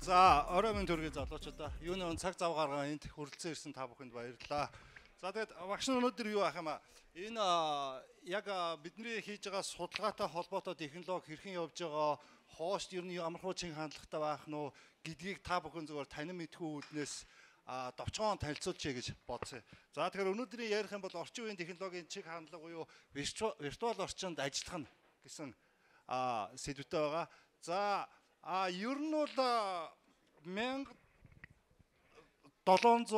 За, орой минь төргийн залуучуудаа юуны цаг зав гаргаа энд хүрэлцэн ирсэн та бүхэнд баярлалаа. За тэгээд багш нар өнөөдөр юу ах юм аа? Энэ яг бидний хийж байгаа судалгаатай холбоотой технологи хэрхэн явж байгаа, хоошд ер нь ямар хуучин хандлагатай байх нь уу гэдгийг та бүхэн зөвөр танин мэдхүү үүднээс товчхон танилцуулчихъя гэж бодсон. За тэгэхээр өнөөдрийн ярих юм бол орчин үеийн технологийн чиг хандлага буюу виртуал орчинд ажиллах нь гэсэн сэдвтэй байгаа. За ер нь бол 1700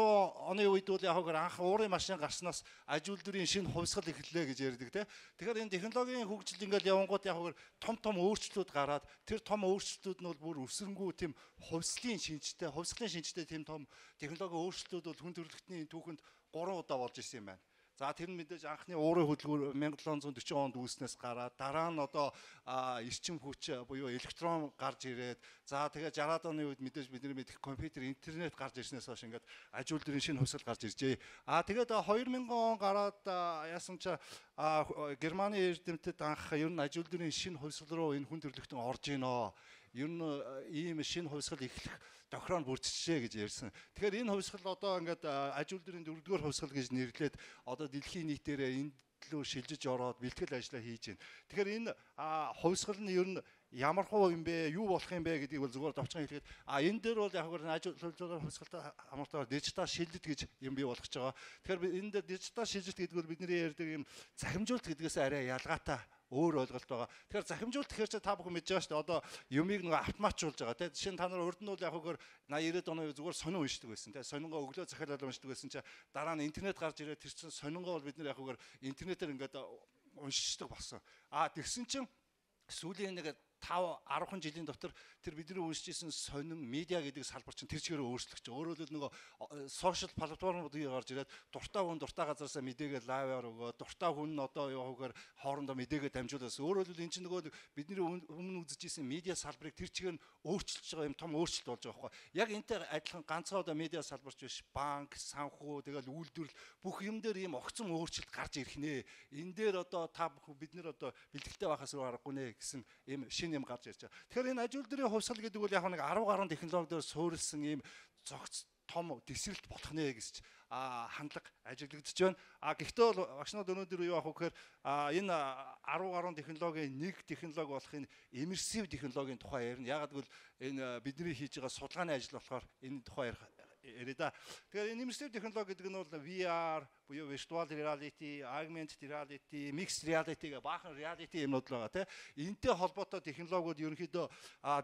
оны үед бол яг анх уурын машин гарснаас аж үйлдвэрийн шинэ хувьсгал эхэллээ гэж ярьдаг тийм. Тэгэхээр энэ технологийн хөгжил ингээл явангууд яг том өөрчлөлтүүд гараад тэр том өөрчлөлтүүд нь бол бүр өсрөнгүү тийм хувьсгалын шинжтэй тийм том технологийн өөрчлөлтүүд бол хүн төрөлхтний түүхэнд 3 удаа болж ирсэн юм байна. За тэр нь мэдээж анхны уурын хөдөлгүүр 1740 онд үүснээс гараад дараа нь одоо эрчим хүч буюу электрон гарч ирээд за тэгээд 60-аад оны үед мэдээж бидний мэдэх компьютер интернет гарч ирснээс хойш ингээд аж үйлдвэрийн шинэ хувьсгал гарч иржээ. Тэгээд 2000 он гараад яасан ч Германы эрдэмтэд анх ер нь аж үйлдвэрийн шинэ хувьсгал руу энэ хүн төрөлхтөн орж ийноо. Ер нь ийм шинэ хувьсгал эхлэх тохироо бүрдчихжээ гэж ярьсан. Тэгэхээр энэ хувьсгал одоо ингээд аж үйлдвэрийн 4-р хувьсгал гэж нэрлээд одоо дэлхийн нийтээрээ энд лөө шилжиж ороод бэлтгэл ажиллаа хийж байна. Тэгэхээр энэ хувьсгал нь ер нь ямар хуу юм бэ, юу болох юм бэ гэдгийг бол зүгээр товчхон хэлгээд энэ дээр бол яг аж үйлдвэрийн хувьсгалтай хамаартай дижитал шилжилт гэж юм бий болгож байгаа. Тэгэхээр энэ дээр дижитал шилжилт гэдэг бол бидний ярьдаг юм захимжуулалт гэдгээс арай ялгаатай өөр ойлголт байгаа. Тэгэхээр захимжуулалт гэхээр чи та бүхэн мэдж байгаа шүү дээ. Одоо юмыг нэг автоматжуулж байгаа тийм. Жишээ нь та нар урд нь бол яг хөр 80-90-ад оны зүгээр сонин уншдаг байсан тийм. Сонингоо өглөө захиалал уншдаг байсан чи дараа нь интернет гарч ирээд тэр чин сонингоо бол бид нар яг хөр интернетээр ингээд уншдаг болсон. Тэгсэн чинь сүүлийн нэг 5-10 жилийн дотор тэр бидний уншиж ирсэн сонин медиа гэдэг салбар чинь тэр чигээр өөрчлөгдөж. Өөрөөр хэлбэл нөгөө сошиал платформуд гарч ирээд дуртай хүн дуртай газараасаа мэдээгээ лайваар өгөө, дуртай хүн нь одоо яваагаар хоорондоо мэдээгээ дамжуулаас. Өөрөөр хэлбэл энэ чинь нөгөө бидний өмнө үзэж ирсэн медиа салбарыг тэр чигээр нь өөрчилж байгаа юм том өөрчлөлт болж байгаа байхгүй. Яг энтэй адилхан ганцхан одоо медиа салбарч биш, банк, санхүү, тэгэл үйлдвэрлэл бүх юм дээр ийм огцом өөрчлөлт гарч ирэх нэ. Энэ дээр одоо та бүхэн бид нэр одоо бэлтгэлтэй байхаас руу аргагүй нэ гэсэн ийм юм гарч ирж байгаа. Тэгэхээр энэ аж үйлдвэрийн хувьсгал гэдэг бол яг нэг 10 гаруй технологиор суурилсан ийм зогц том дэсрэлт болох нэ гэж хандлага ажиглагдаж байна. Гэхдээ бол багшнууд өнөөдөр юу авах вэ гэхээр энэ 10 гаруй технологийн нэг технологи болох энэ иммерсив технологийн тухай ярина. Ягаад гэвэл энэ бидний хийж байгаа судалгааны ажил болохоор энэ тухай яриа да. Тэгэхээр энэ иммерсив технологи гэдэг нь бол VR буюу virtual reality, augmented reality, mixed reality гэх баахан reality юмнууд л байгаа тийм. Энтэй холбоотой технологиуд ерөнхийдөө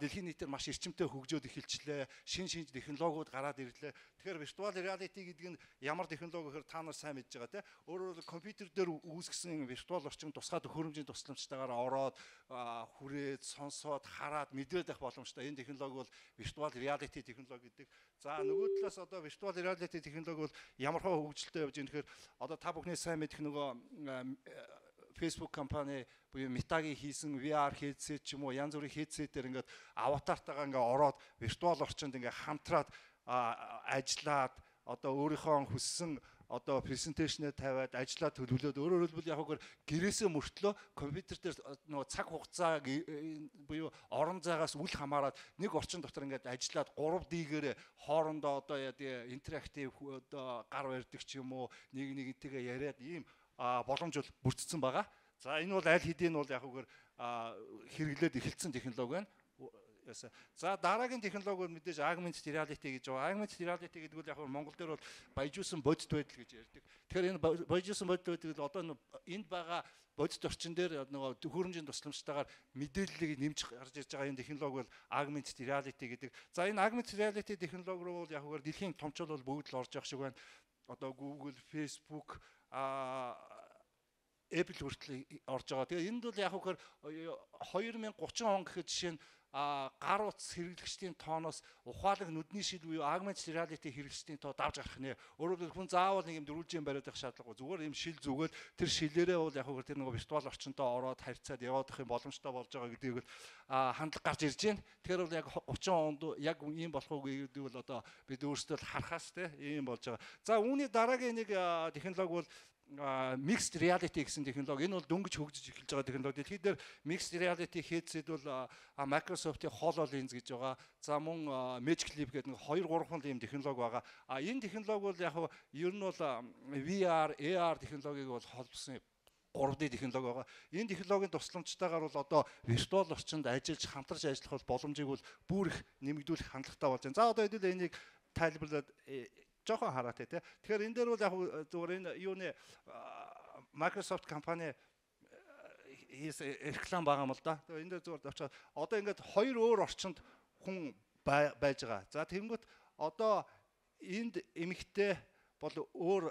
дэлхийн нийтээр маш эрчимтэй хөгжөөд эхэлчлээ. Шинэ технологиуд гараад ирлээ. Тэгэхээр virtual reality гэдэг нь ямар технологи гэхээр та нар сайн мэдж байгаа тийм. Өөрөөр компьютер дээр үүсгэсэн virtual орчин тусгай төхөөрөмжийн тусламжтайгаар ороод хүрээд, сонсоод, хараад мэдрээд байх боломжтой. Энэ технологи бол virtual reality технологи гэдэг. За нөгөө талаас одоо virtual reality технологи бол ямар хөө хөгжилтэй явж байгаа нөхөр одоо та бүхний сайн мэдэх нөгөө Facebook компани буюу Meta-гийн хийсэн VR headset ч юм уу янз бүрийн headset-ээр ингээд аватартайгаа ингээд ороод виртуал орчинд ингээд хамтраад ажиллаад одоо өөрийнхөө хүссэн одоо презентацнээ тавиад ажиллаа төлөвлөөд өөрөөр хэлбэл яг үгээр гэрээсээ мөртлөө компьютер дээр нөгөө цаг хугацаа буюу орон зайгаас үл хамааран нэг орчин дотор ингээд ажиллаад 3D-гээр хоорондоо одоо интерактив одоо гар барьдаг ч юм уу нэгнтэйгээ яриад ийм боломж бол бүрдсэн байгаа. За энэ бол аль хэдийн бол яг үгээр хэрэглээд эхэлсэн технологи байна. За дараагийн технологи бол мэдээж augmented reality гэж байгаа. Augmented reality гэдэг нь яг Монгол дээр бол баяжуулсан бодит байдал гэж ярьдаг. Тэгэхээр энэ баяжуулсан бодит байдал одоо энд байгаа бодит орчин дээр нөгөө төхөөрөмжийн тусламжтайгаар мэдээллийг нэмж гарч ирж байгаа энэ технологи бол augmented reality гэдэг. За энэ augmented reality технологи руу бол яг үгээр дэлхийн томчууд бол бүгд л орж явах шиг байна. Одоо Google, Facebook, Apple хүртэл орж байгаа. Тэгээ энд бол яг үгээр 2030 он гэхэд жишээ нь гар утас хэрэглэгчдийн тооноос ухаалаг нүдний шил буюу augmented reality хэрэглэгчдийн тоо давж гарах нэ. Өөрөөр хэлбэл хүн заавал нэг юм дөрвөлжин бариад байх шаардлагагүй. Зүгээр юм шил зүгээд тэр шилээрээ бол яг хөө тэр нэг виртуал орчинтой ороод харьцаад яваад их юм боломжтой болж байгаа гэдгийг хандлага гарч ирж байна. Тэгэхээр бол яг 30 онд яг ийм болох уу гэдэг бол одоо бид өөрсдөө харахаас те ийм болж байгаа. За үүний дараагийн нэг технологи бол mixed reality гэсэн технологи. Энэ бол дөнгөж хөгжиж эхэлж байгаа технологи. Дэлхийд дээр mixed reality headset бол Microsoft-ийн HoloLens гэж байгаа. За мөн Magic Leap гэдэг нэг 2 3 ийм технологи байгаа. Энэ технологи бол яг ер нь бол VR, AR технологиг бол холбосон 3D технологи байгаа. Энэ технологийн тусламжтайгаар бол одоо виртуал орчинд ажиллаж хамтарч ажиллах боломжийг бол бүр их нэмэгдүүлэх хандлагатай болж байна. За одоо хэдүүлээ энийг тайлбарлаад жоохон хараатай тий. Тэгэхээр энэ дээр бол яг зүгээр энэ юуны Microsoft компани реклам байгаа юм л да. Тэгээ энэ дээр зүгээр очоод одоо ингээд 2 өөр орчинд хүн байж байгаа. За тэгэнгүүт одоо энд эмэгтэй бол өөр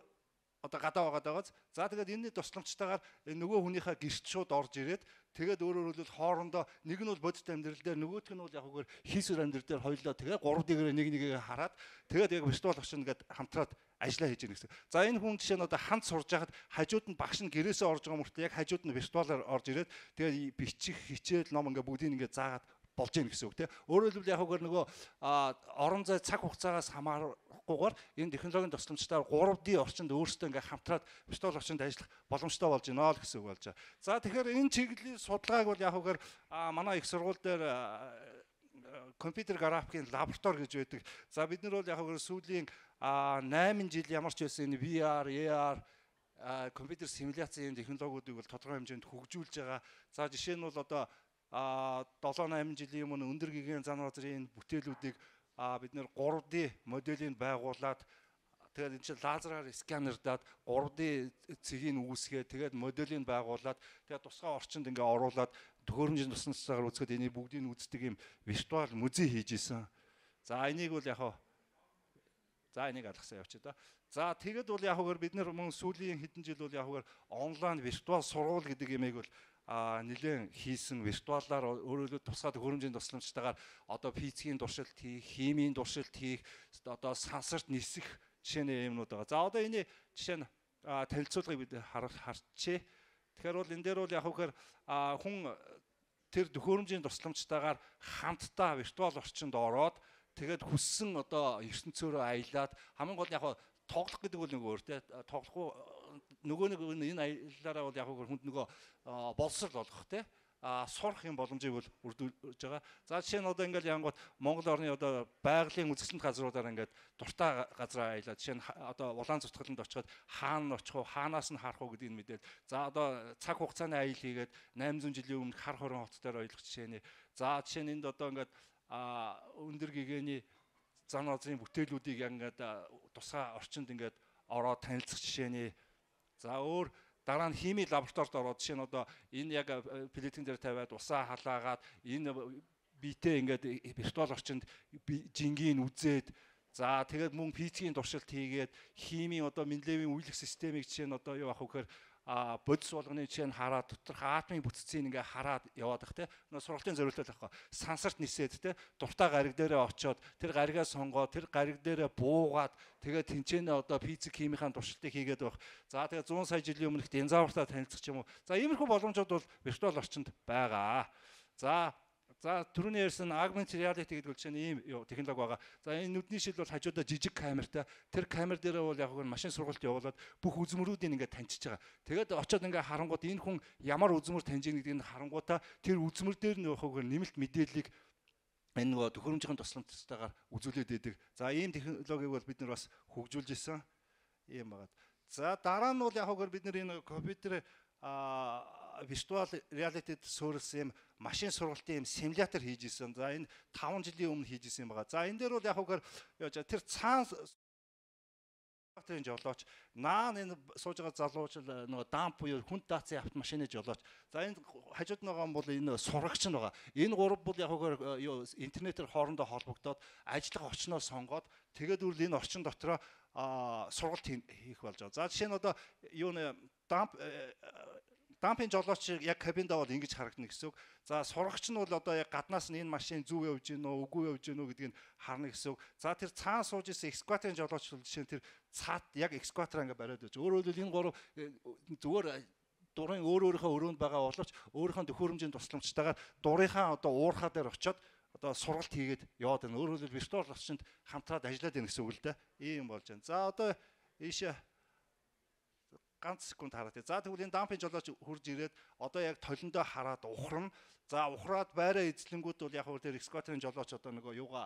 одоо гадаа байгааз. За тэгээд энэний тусламжтайгаар нөгөө хүнийхээ гэрт шууд орж ирээд тэгээд өөрөөр хэлбэл хоорондоо нэг нь бол бодит амьдрал дээр нөгөөх нь бол яг үгээр хийсвэр амьдрал дээр хоёлоо тэгээд 3D-гээр нэг нэгээ хараад тэгээд яг виртуал орчин ингээд хамтраад ажиллаа хийж ирнэ гэсэн. За энэ хүн жишээ нь одоо ханд сурж байхад хажууд нь багш нь гэрээсээ орж байгаа мөртөө яг хажууд нь виртуалаар орж ирээд тэгээд бичих хичээл ном ингээд бүгдийг ингээд заагаад болж ийн гэсэн үг тийм. Өөрөөр хэлбэл яг үгээр нөгөө орон зай цаг хугацаагаас хамаарахгүйгээр энэ технологийн тусламжтайгаар 3D орчинд өөрсдөө ингээ хамтраад виртуал орчинд ажиллах боломжтой болж байна л гэсэн үг болж байгаа. За тэгэхээр энэ чиглэлийн судалгааг бол яг үгээр манай их сургууль дээр компьютер графикийн лаборатори гэж байдаг. За бид нар бол яг үгээр сүүлийн 8 жил ямар ч байсан энэ VR, AR компьютер симуляцийн технологиудыг бол тодорхой хэмжээнд хөгжүүлж байгаа. За жишээ нь бол одоо 7-8 жилийн өмнө өндөр гэгээн зан газрын бүтээлүүдийг бид нэр 3D моделийг байгуулад тэгээд энэ чинь лазераар сканердаад 3D цэгийг үүсгээд тэгээд моделийг байгуулад тэгээд тусгай орчинд ингээ оруулаад төхөөрөмжийн тусламжтайгаар үзэхэд энийг бүгдийг үздэг юм виртуал музей хийж исэн. За энийг бол яг за энийг алгасан явчих да. За тэгэд бол яг үгээр бид нар мөн сүүлийн хэдэн жил бол яг үгээр онлайн виртуал сургууль гэдэг юмыг бол нэлээд хийсэн виртуалаар өөрөөр тусгай төхөөрөмжийн тусламжтайгаар одоо физикийн туршилт хийх, химийн туршилт хийх, одоо сансарт нисэх жишээний юмнууд байгаа. За одоо энэ жишээ нь танилцуулгыг бид харчээ. Тэгэхээр бол энэ дээр бол яг үхээр хүн тэр төхөөрөмжийн тусламжтайгаар хамтдаа виртуал орчинд ороод тэгээд хүссэн одоо ертөнцөөрөө аялаад хамгийн гол нь яг тоглох гэдэг бол нэг өөр тий тоглохгүй нөгөө нэг энэ аяллаараа бол яг хүнд нөгөө боловсрал болгох тий сурах юм боломжийг бол үрдүүлж байгаа. За жишээ нь одоо ингээл янгууд Монгол орны одоо байгалийн үзэсгэлэнт газруудаар ингээд дуртай газраа аялаад жишээ нь одоо улаан зүтгэлэнд очиод хаана очих вэ, хаанаас нь харах вэ гэдгийг мэдээд за одоо цаг хугацааны аял хийгээд 800 жилийн өмнө хар хорон хот дээр ойлгох жишээний. За жишээ нь энд одоо ингээд өндөр гэгээний зан газрын бүтээлүүдийг ингээд тусгай орчинд ингээд ороод танилцах жишээний. За өөр дараа нь хими лабораторид ороод жишээ нь одоо энэ яг плитэн дээр тавиад усаа халаагаад энэ биетээ ингээд виртуал орчинд жингийн үзээд за тэгээд мөн физикийн туршилт хийгээд химийн одоо Менделеевийн үйлчлэх системийг жишээ нь одоо юу ах вэ гэхээр бодис болгоны жишээ нь хараад доторх атомын бүтцийг ингээ хараад яваад бах те сургалтын зорилттой байхгүй сансарт нисээд те дуртай гариг дээрээ очиод тэр гаригаа сонгоод тэр гариг дээрээ буугаад тэгээд тэнцэнэ одоо физик химийн туршилтыг хийгээд байх. За тэгээд 100 сая жилийн өмнөх динозавртай танилцах юм уу. За иймэрхүү боломжууд бол виртуал орчинд байгаа. За түрүүний ярьсан augmented reality гэдэг жишээ нь ийм технологи байгаа. За энэ нүдний шил бол хажуудаа жижиг камертай. Тэр камер дээрээ бол яг нь машин сургалт явуулаад бүх үзмөрүүдийг ингээд таньчиж байгаа. Тэгээд очиод ингээд харангууд энэ хүн ямар үзмөр таньж ийн гэдгийг харангуудаа тэр үзмөр дээр нь явахгаар нэмэлт мэдээллийг энэ нөгөө төхөөрөмжийн тусламжтайгаар үзүүлээд идэг. За ийм технологиг бол бид нар бас хөгжүүлж исэн юм байна. За дараа нь бол яг бид нар энэ компьютер виртуал реалитид суурилсан юм машин сургалтын юм симулятор хийж исэн. За энэ 5 жилийн өмнө хийж исэн юм байгаа. За энэ дээр бол яг үгээр тэр цаана тэр жолооч энэ сууж байгаа залууч нөгөө дамп буюу хүнд даацын автомашины жолооч. За энэ хажууд нь байгаа юм бол энэ сурагч нь байгаа. Энэ гурав бол яг үгээр интернетээр хоорондоо холбогдоод ажиллах орчноо сонгоод тэгээд үл энэ орчин дотроо сургалт хийх болж байгаа. За жишээ нь одоо дампын жолооч яг кабинд аваад ингэж харагдана гэсэн үг. За сурагч нь бол одоо яг гаднаас нь энэ машин зөв явж гин үү, үгүй явж гин үү гэдгийг харна гэсэн үг. За тэр цаана сууж исэн экскаваторын жолооч бол жишээ нь тэр цаад яг экскаватор ингээ бариад байж. Өөрөөр хэлбэл энэ гурав зүгээр дурын өөрийнхөө өрөөнд байгаа боловч өөрийнхөө төхөөрөмжийн тусламжтайгаар дурынхаа одоо уурхаа дээр очиод одоо сургалт хийгээд яваад байна. Өөрөөр хэлбэл виртуал орчинд хамтраад ажиллаад байна гэсэн үг л дээ. Ийм болж байна. За одоо ийшээ ганц секунд хараад. За тэгвэл энэ дампын жолооч хурж ирээд одоо яг толиндоо хараад ухрна. За ухраад байраа эзлэнгүүд бол яг тэр экскаваторын жолооч одоо нөгөө юугаа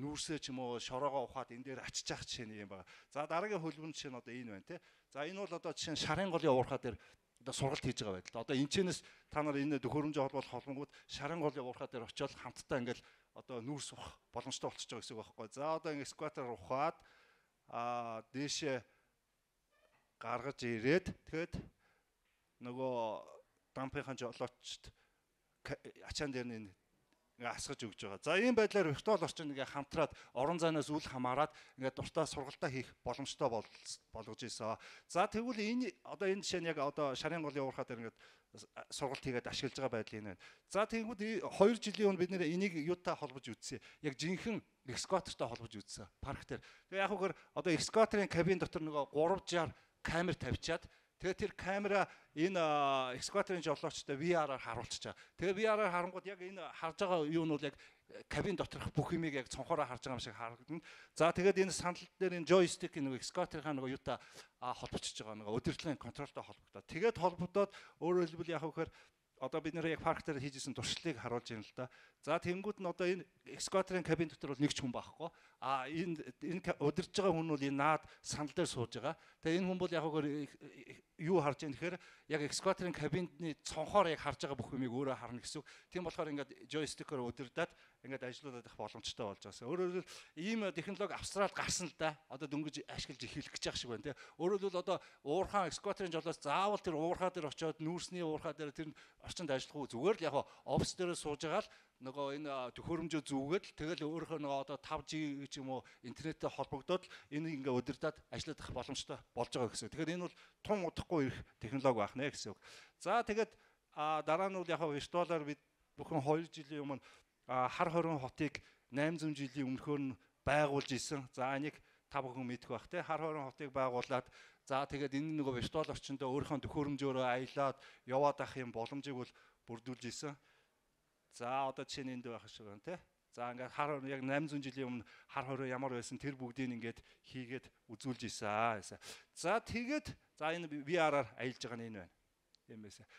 нүүрсээ ч юм уу шороогоо ухаад энэ дээр ачиж ах жишээ нэг юм байна. За дараагийн хөлбөмбөг жишээ нь одоо энэ байна те. За энэ бол одоо жишээ нь шарын голын уурхаа дээр одоо сургалт хийж байгаа байдал. Одоо энэчнээс та нар энэ төхөөрөмжийн холбоот холбонгууд шарын голын уурхаа дээр очиод хамтдаа ингээл одоо нүүрс ухах боломжтой болчихж байгаа гэсэн үг байхгүй. За одоо ингэ экскаватор ухаад дээшээ гаргаж ирээд тэгэхэд нөгөө дампынхаа жолоочд ачаан дээр нь ингээ асгаж өгж байгаа. За ийм байдлаар виртуал орчинд ингээ хамтраад орон зайнаас үл хамааран ингээ дуртай сургалтаа хийх боломжтой болгож ийсэн. За тэгвэл энэ одоо энэ жишээ нь яг одоо шарын голын уурхаа дээр ингээ сургалт хийгээд ашиглаж байгаа байдал энэ байна. За тэгвэл 2 жилийн өмнө бид нэр энийг юутай холбож үзсэн. Яг жинхэнэ экскаватортай холбож үзсэн. Парк дээр. Тэгээ яг үгээр одоо экскаваторын кабин дотор нөгөө 360 камер тавьчаад тэгээ тэр камера энэ экскаваторын жолоочтой VR-аар харуулчих чаа. Тэгээ VR-аар харангууд яг энэ харж байгаа юу нь бол яг кабин доторх бүх юмыг яг цонхоороо харж байгаа юм шиг харагдана. За тэгээд энэ санал дээр энэ joystick нэг экскаваторынхаа нөгөө юутай холбогдчихж байгаа нөгөө удирдлагын контролтой холбогдоод. Тэгээд холбогдоод өөрөөр хэлбэл яг вөхөр одоо бид нэр яг парк дээр хийжсэн туршлагыг харуулж байна л да. За тэнгууд нь одоо энэ экскаваторын кабин дотор бол нэг ч хүн байхгүй. Энэ удирж байгаа хүн бол энэ наад санал дээр сууж байгаа. Тэгээ энэ хүн бол яг юу харж байгаа нэхэр яг экскаваторын кабинны цонхоор яг харж байгаа бүх юмыг өөрөө харна гэсэн үг. Тийм болохоор ингээд joystick-оор удирдаад ингээд ажиллуулах боломжтой болж байгаа. Өөрөөр хэлбэл ийм технологи австрал гарсан л да. Одоо дөнгөж ашиглаж эхэлэх гэж байгаа шиг байна те. Өөрөөр хэлбэл одоо уурхаан экскаваторын жолоос заавал тэр уурхаа дээр очиод нүүрсний уурхаа дээр тэр орчинд ажиллах уу зүгээр л яг офис дээр сууж байгаа л нөгөө энэ төхөөрөмжөө зүгээд тэгэл өөрөөхөө нөгөө одоо 5G ч юм уу интернеттэй холбогдоод энийг ингээ удирдаад ажиллах боломжтой болж байгаа гэсэн. Тэгэхээр энэ бол тун удахгүй ирэх технологи байх нэ гэсэн үг. За тэгээд дараа нь бол яг виртуалаар бид бүхэн 2 жилийн өмнө хар хорин хотыг 800 жилийн өмнөхөр нь байгуулж исэн. За энийг та бүхэн мэдэх бах те. Хар хорин хотыг байгуулад за тэгээд энэ нөгөө виртуал орчиндөө өөрийнхөө төхөөрөмжөөрөө аялаад яваад ах юм боломжийг бол бүрдүүлж исэн. За одоо жишээ нь энд байх шиг байна те. За ингээд хар яг 800 жилийн өмнө хар хороо ямар байсан тэр бүгдийг ингээд хийгээд үзүүлж ийсэн. За тэгээд за энэ VR-аар аялж байгаа нь энэ байна. Ийм байсан.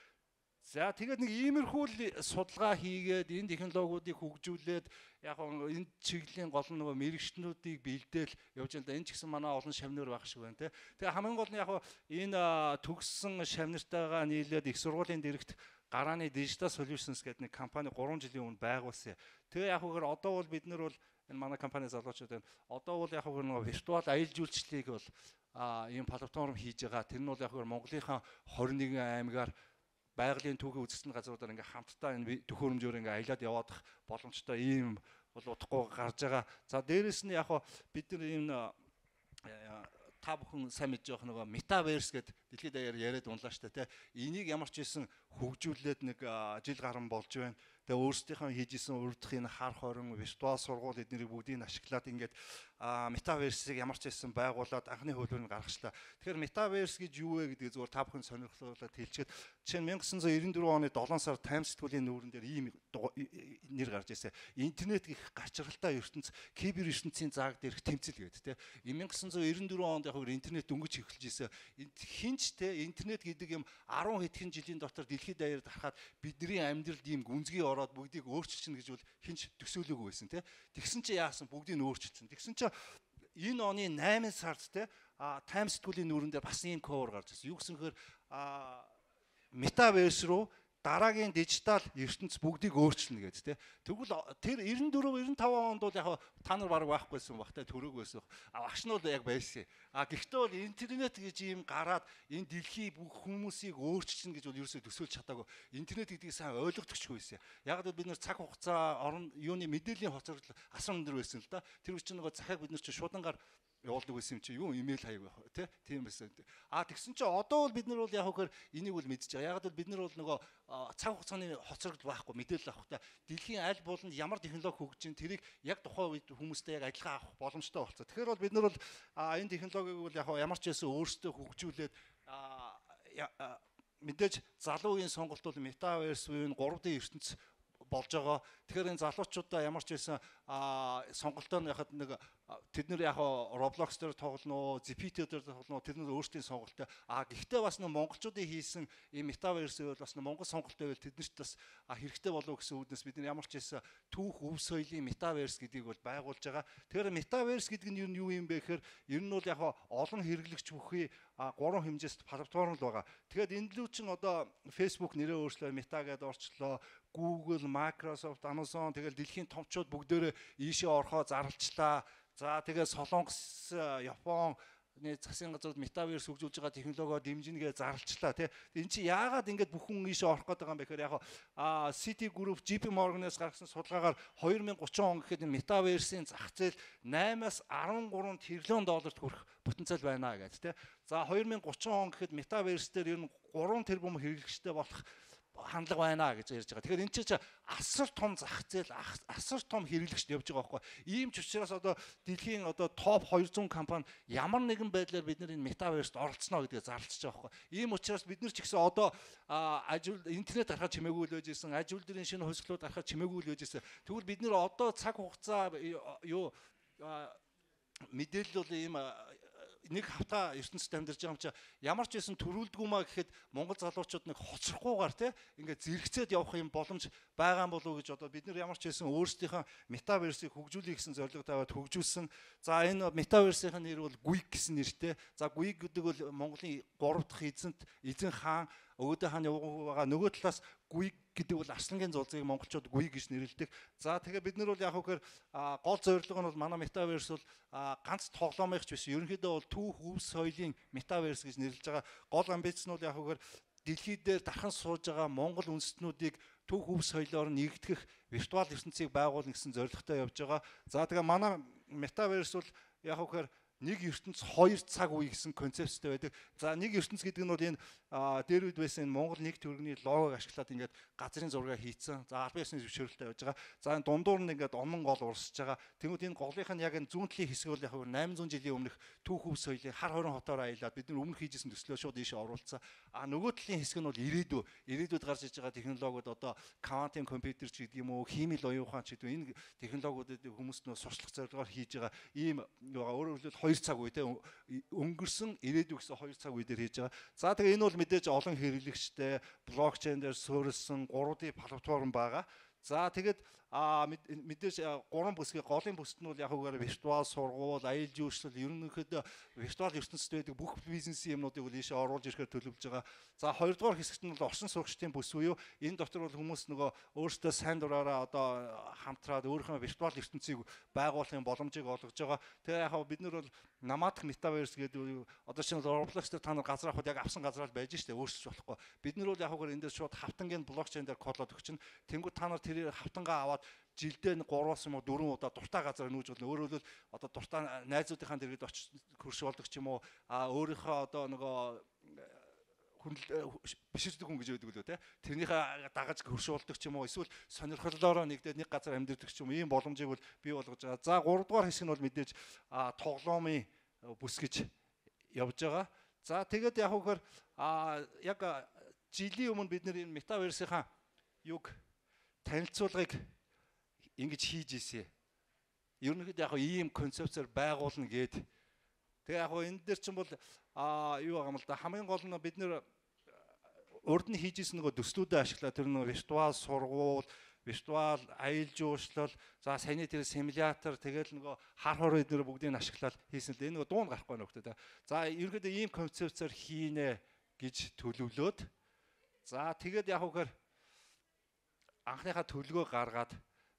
За тэгээд нэг иймэрхүү судалгаа хийгээд энэ технологиудыг хөгжүүлээд яг энэ чиглэлийн гол нь нөгөө мэрэгчнүүдийг бэлдээл явж байгаа. Энэ ч гэсэн манай олон шавнар байх шиг байна те. Тэгээ хамгийн гол нь яг энэ төгссөн шавнартайгаа нийлээд их сургуулийн дэрэгт гарааны Digital Solutions гэдэг нэг компани 3 жилийн өмнө байгуулсан. Тэгээ яг үгээр одоо бол бид нар бол энэ манай компани залуучууд байна. Одоо бол яг үгээр нөгөө виртуал аялал жуулчлалыг бол ийм платформ хийж байгаа. Тэр нь бол яг үгээр Монголынхаа 21 аймгаар байгалийн түүхийг үзэсгэлэн газруудаар ингээ хамтдаа энэ төхөөрөмжөөр ингээ аялаад яваадах боломжтой ийм бол удахгүй гарч байгаа. За дээрэс нь яг бид нар энэ та бүхэн сайн мэдж байгаа нөгөө метаверс гэдэг дэлхийд даяар яриад унлаа штэ тий. Энийг ямар ч хийсэн хөгжүүлээд нэг жил гарan болж байна. Тэгээ өөрсдийнхөө хийжсэн урдх энэ хар хорин виртуал сургууль эднэрийг бүгдийг ашиглаад ингээд метаверсыг ямар ч хийсэн байгуулад анхны хөлбөрөнд гаргачлаа. Тэгэхээр метаверс гэж юу вэ гэдгийг зөвхөн та бүхэн сонирхолтой хэлчихэд жишээ нь 1994 оны 7 сар Таймс сэтгүүлийн нүүрэн дээр ийм нэр гарч ирсэн. Интернет гэх гачралтай ертөнц кибер ертөнцийн зааг дээрх тэмцэл гэдэг тийм. 1994 онд яг интернет дөнгөж эхэлж ирсэн. Хинч те интернет гэдэг юм 10 хэдхэн жилийн дотор дэлхийд даяар тархаад бидний амьдралд ийм гүнзгий ороод бүгдийг өөрчилчихнэ гэж бол хинч төсөөлөөгүй байсан те. Тэгсэн чи яасан бүгдийг нь өөрчилсөн. Тэгсэн чи энэ оны 8 сард те Таймс сэтгүүлийн нүүрэн дээр бас ийм cover гарч ирсэн. Юу гэсэн хэр метаверс руу дараагийн дижитал ертөнц бүгдийг өөрчилнө гэдэг тийм. Тэгвэл тэр 94 95 онд бол яг та нар баг байхгүй байсан багтай төрөөг байсан. Багш нь бол яг байсан. Гэхдээ бол интернет гэж юм гараад энэ дэлхий бүх хүмүүсийг өөрчилнө гэж бол ерөөсөө төсөөлж чадаагүй. Интернет гэдгийг сайн ойлгохдогчгүй байсан. Яг л бид нэр цаг хугацаа орон юуны мэдээллийн хоцрол асар өндөр байсан л да. Тэр үуч нэг захиаг бид нар чи шудангаар явуулдаг байсан юм чи юу имэйл хаяг байх тийм байсан. Тэгсэн чи одоо бол бид нар бол яг хөхөр энийг бол мэдж байгаа. Яг л бид нар бол нөгөө цаг хугацааны хоцрогдол байхгүй мэдээлэл авахта дэлхийн аль бууланд ямар технологи хөгжиж ин тэрийг яг тухайн үед хүмүүстэй яг адилхан авах боломжтой болцоо. Тэгэхээр бол бид нар бол энэ технологиг бол яг ямар ч байсан өөрсдөө хөгжүүлээд мэдээж залуу үеийн сонголт бол метаверс буюу 3D ертөнц болж байгаа. Тэгэхээр энэ залуучуудаа ямар ч байсан сонголтоо яхад нэг тэд нэр яг Roblox дээр тоглоно, ZPT дээр тоглоно, тэд нэр өөрсдийн сонголтоо. Гэхдээ бас нэг монголчуудын хийсэн ийм метаверс бол бас нэг монгол сонголтоо байвал тэд нарт бас хэрэгтэй болов гэсэн үгнээс бид нар ямар ч байсан түүх өв соёлын метаверс гэдгийг бол байгуулж байгаа. Тэгэхээр метаверс гэдэг нь юу юм бэ гэхээр ер нь бол яг олон хэрэглэгч бүхий 3 хэмжээст платформ л байгаа. Тэгэхээр энэ лүү чинь одоо Facebook нэрээ өөрчлөө Meta гэдээ орчлоо. Google, Microsoft, Amazon тэгэл дэлхийн томчууд бүгдээрээ ийшээ орохоо зарлчлаа. За тэгээ Солонгос, Япон засгийн газрууд метаверс хөгжүүлж байгаа технологио дэмжингээ зарлчлаа тий. Энд чи яагаад ингэж бүхэн ийшээ орох гээд байгаа юм бэ гэхээр яг City Group, JP Morgan-аас гаргасан судалгаагаар 2030 он гэхэд энэ метаверсийн зах зээл 8-аас 13 тэрлион долларт хүрэх потенциал байна гэж тий. За 2030 он гэхэд метаверс дээр ер нь 3 тэрбум хэрэглэгчтэй болох хандлага байна гэж ярьж байгаа. Тэгэхээр энэ чинь асар том зах зээл, асар том хэрэглэгчд явж байгаа байхгүй. Ийм ч учраас одоо дэлхийн одоо топ 200 компани ямар нэгэн байдлаар бид нар энэ метаверст оролцсноо гэдгээ зарлж байгаа байхгүй. Ийм учраас бид нар ч гэсэн одоо интернет гарахад чимээгүй л байж исэн, ажил дээрийн шинэ хувьсгалууд гарахад чимээгүй л байж исэн. Тэгвэл бид нар одоо цаг хугацаа мэдээлэл бол ийм нэг хавтаа ертөнцид амьдарч байгаа юм чи ямар ч байсан төрүүлдэггүй маа гэхэд монгол залуучууд нэг хоцрохгүйгээр те ингээд зэрэгцээд явах юм боломж байгаа юм болов уу гэж одоо бид нар ямар ч байсан өөрсдийнхөө метаверсийг хөгжүүлэх гэсэн зорилго тавиад хөгжүүлсэн. За энэ метаверсийн нэр бол GUIG гэсэн нэртэй. За GUIG гэдэг бол Монголын 3 дахь эзэн хаан Өвгөдөө хааны байгаа. Нөгөө талаас GUIG гэдэг бол Арслангийн зулцыг монголчууд GUIG гэж нэрлэдэг. За тэгээ бид нар бол яг хөөр гол зорилго нь бол манай метаверс бол ганц тоглоомынх ч биш. Ерөнхийдөө бол түүх өв соёлын метаверс гэж нэрлэж байгаа. Гол амбиц нь бол яг хөөр дэлхий дээр дархан сууж байгаа монгол үндэстнүүдийг түүх өв соёлоор нэгтгэх виртуал ертөнцийг байгуулна гэсэн зорилготой явж байгаа. За тэгээ манай метаверс бол яг хөөр нэг ертөнц 2 цаг үе гэсэн концепттэй байдаг. За нэг ертөнц гэдэг нь бол энэ дээр үед байсан Монгол нэг төргийн логог ашиглаад ингээд газрын зураг хийцэн. За албан ёсны зөвшөөрөлтэй байж байгаа. За энэ дундуур нь ингээд онон гол урсж байгаа. Тэгмүүд энэ голынх нь яг энэ зүүн талын хэсэг бол яг 800 жилийн өмнөх түүх өв соёлын хар хорин хотоор аялаад бид нар өмнө хийжсэн төслөө шууд ийшээ оруулсан. Нөгөө талын хэсэг нь бол ирээдүйд гарч иж байгаа технологиуд одоо квантын компьютер ч гэдэг юм уу, химийн оюун ухаан ч гэдэг энэ технологиудыг хүмүүст нөө сурчлах зорилгоор хийж байгаа ийм өөрөөр хэлбэл 2 цаг үе те өнгөрсөн ирээдүй гэсэн 2 цаг үе дээр хийж байгаа. За тэгээ энэ бол мэдээж олон хэрэглэгчтэй блокчейн дээр суурилсан 3D платформ байгаа. За тэгээд мэдээж 3 бүсгийн голын бүсд нь бол яг үгээр виртуал сургууль, аялал жуулчлал ерөнхийдөө виртуал ертөнцид байдаг бүх бизнесийн юмнуудыг бол ийшээ оруулж ирэхээр төлөвлөж байгаа. За 2 дугаар хэсэгт нь бол орчин суугчдын бүс буюу энэ дотор бол хүмүүс нөгөө өөрсдөө сайн дураараа одоо хамтраад өөрийнхөө виртуал ертөнцийг байгуулахын боломжийг олгож байгаа. Тэгээ яг бид нар бол намаадах метаверс гэдэг одоо чинь Roblox дээр та нар газар авахд яг авсан газар л байж штэ өөрсөж болохгүй. Бид нар бол яг үгээр энэ дээр шууд хавтангийн блокчейн дээр кодлоод өгчин. Тэнгүү та нар тэр хавтангаа аваад жилдээ 3-аас юм уу 4 удаа дуртай газар нүүж болно. Өөрөөр хэлбэл одоо дуртай найзуудынхаа дэргэд очиж хөрш болдог ч юм уу. Өөрийнхөө одоо нөгөө биширдэг хүн гэж байдаг лөө те. Тэрнийхээ дагаж хөрш болдог ч юм уу. Эсвэл сонирхлоороо нэгдээд нэг газар амьдэрдэг ч юм уу. Ийм боломжийг бол бий болгож байгаа. За 3 дугаар хэсэг нь бол мэдээж тоглоомын бүс гэж явж байгаа. За тэгээд яг хөөр яг жилийн өмнө бид нэр энэ метаверсийнхаа юг танилцуулгыг ингэж хийж ийсэн. Ерөнхийдөө яг ийм концепцээр байгуулна гээд. Тэгээ яг энэ дээр чинь бол юу байгаа юм л да хамгийн гол нь бид нэр урд нь хийж ийсэн нөгөө төслүүдэд ашиглаад тэр нөгөө виртуал сургууль, виртуал аялал жуулчлал, за саяны тэр симулятор тэгэл нөгөө хар хор эднэр бүгдийг ашиглаад хийсэн л энэ нөгөө дуун гарахгүй нөхдөд. За ерөнхийдөө ийм концепцээр хийнэ гэж төлөвлөөд. За тэгээд яг үгээр анхныхаа төлгөө гаргаад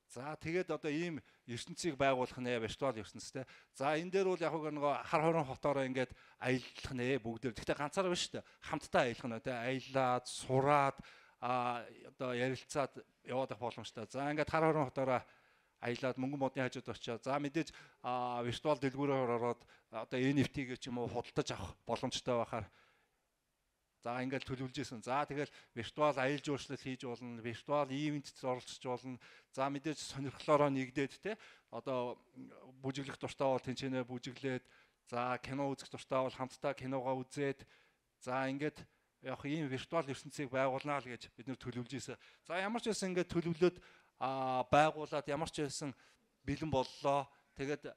за тэгээд одоо ийм ертөнцийг байгуулах нэ виртуал ертөнцтэй. За энэ дээр бол яг нөгөө хар хорон хотоороо ингээд аялах нэ бүгдээр. Гэхдээ ганцаараа биш шүү дээ. Хамтдаа аялах нэ тэ аялаад, сураад одоо ярилцаад яваад авах боломжтой. За ингээд хар хорон хотоороо аялаад мөнгөн модны хажууд очиод за мэдээж виртуал дэлгүүрээр ороод одоо NFT гэж юм уу худалдаж авах боломжтой байхаар за ингээл төлөвлөж исэн. За тэгэл виртуал аялал жуулчлал хийж болно, виртуал ивентэд оролцож болно. За мэдээж сонирхлоороо нэгдээд те одоо бүжиглэх дуртай бол тэнцэнэ бүжиглээд за кино үзэх дуртай бол хамтдаа киногоо үзээд за ингээд яг ийм виртуал ертөнцийг байгуулнаа л гэж бид нэр төлөвлөж исэн. За ямар ч байсан ингээд төлөвлөөд байгуулад ямар ч байсан бэлэн боллоо. Тэгээд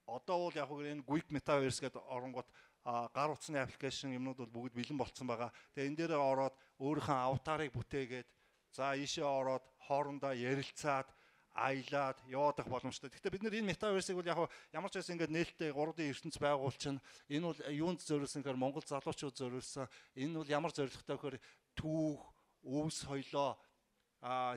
одоо бол яг энэ Quick Metaverse гэдэг оронгууд гар утасны аппликейшн юмнууд бол бүгд бэлэн болцсон байгаа. Тэгээ энэ дээр ороод өөрийнхөө аватарыг бүтээгээд за ийшээ ороод хоорондоо ярилцаад аялаад явах боломжтой. Гэхдээ бид энэ метаверсыг бол яг ямар ч байсан ингээд нээлттэй 3D ертөнц байгуулчин энэ бол юунд зориулсан гэхээр Монгол залуучууд зориулсан. Энэ бол ямар зорилготой гэхээр түүх, өвс соёлоо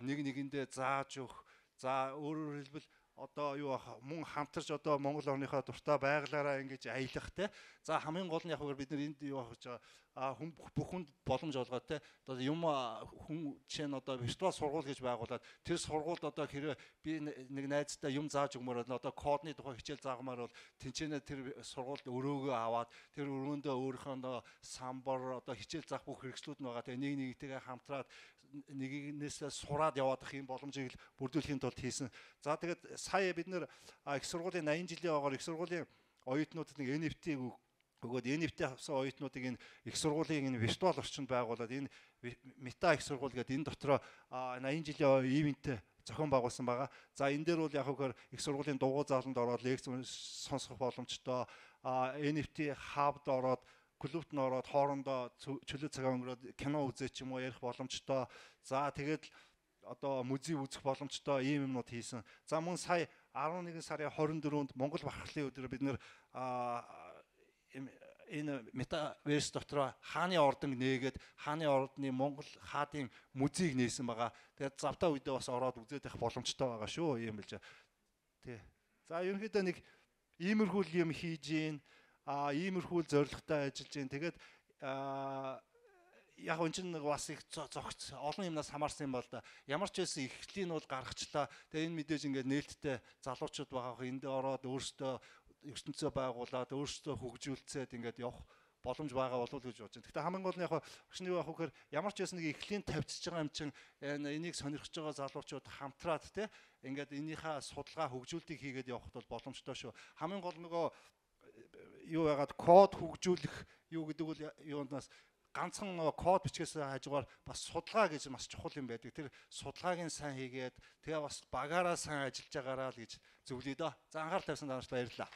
нэг нэгэндээ зааж өгөх. За өөрөөр хэлбэл одоо юу мөн хамтарч одоо Монгол орныхоо дуртай байгалаараа ингэж аялах те. За хамгийн гол нь яг бид нар энд юу хийж байгаа бүх хүнд боломж олгоод те. Одоо юм хүн жишээ нь одоо виртуал сургууль гэж байгуулад тэр сургуульд одоо хэрэг би нэг найзтай юм зааж өгмөр бол одоо кодны тухай хичээл заагмаар бол тэнцэнэ тэр сургуульд өрөөгөө аваад тэр өрөөндөө өөрийнхөө самбар одоо хичээл заах бүх хэрэгслүүд нь байгаа. Тэгээ нэг нэгтэйгээ хамтраад нэгнээс сураад явах юм боломжийг бүрдүүлэхийн тулд хийсэн. За тэгээд сая бид нэр их сургуулийн 80 жилийн оогоор их сургуулийн оюутнуудад нэг NFT өгөөд NFT авсан оюутнуудыг энэ их сургуулийн энэ виртуал орчинд байгуулад энэ мета их сургууль гэдэг энэ дотроо 80 жилийн ивэнттэй зохион байгуулсан байгаа. За энэ дээр бол яг хөөр их сургуулийн дугуй зааланд ороод лекц сонсох боломжтой, NFT хабд ороод клубт нь ороод хоорондоо чөлөө цагаа өнгөрөөд кино үзээ ч юм уу ярих боломжтой. За тэгээд одоо музей үзэх боломжтой ийм юмнууд хийсэн. За мөн сая 11 сарын 24-нд Монгол Бархлын өдрөөр бид нэр энэ метаверс дотор хааны ордон нээгээд хааны ордны Монгол хаадын музейг нээсэн байгаа. Тэгээд завтаа үедээ бас ороод үзээд байх боломжтой байгаа шүү. Ийм л тий. За ерөнхийдөө нэг иймэрхүү юм хийж гин, иймэрхүү зорилготой ажиллаж гин. Тэгээд яг энэ чинь бас их зогц олон юмнаас хамаарсан юм бол да. Ямар ч байсан эхлэлийн нь бол гаргачлаа. Тэгээ энэ мэдээж ингээд нээлттэй залуучууд байгаа. Энд ороод өөрсдөө ертөнцөө байгуулад өөрсдөө хөгжүүлцээд ингээд явах боломж байгаа болов уу гэж бодож байна. Гэхдээ хамгийн гол нь яг багшны юу авах гэхээр ямар ч байсан нэг эхлэлийн тавьчихж байгаа юм чинь энийг сонирхож байгаа залуучууд хамтраад те ингээд энийхээ судалгаа хөгжүүлтийг хийгээд явахд бол боломжтой шүү. Хамгийн гол нөгөө юу яагаад код хөгжүүлэх юу гэдэг бол юунаас ганцхан код бичгээс хажуугаар бас судалгаа гэж маш чухал юм байдаг. Тэр судалгааг нь сайн хийгээд тэгээ бас багаараа сайн ажиллаж байгаараа л гэж зөвлөе дөө. За анхаарал тавьсан дараач баярлалаа.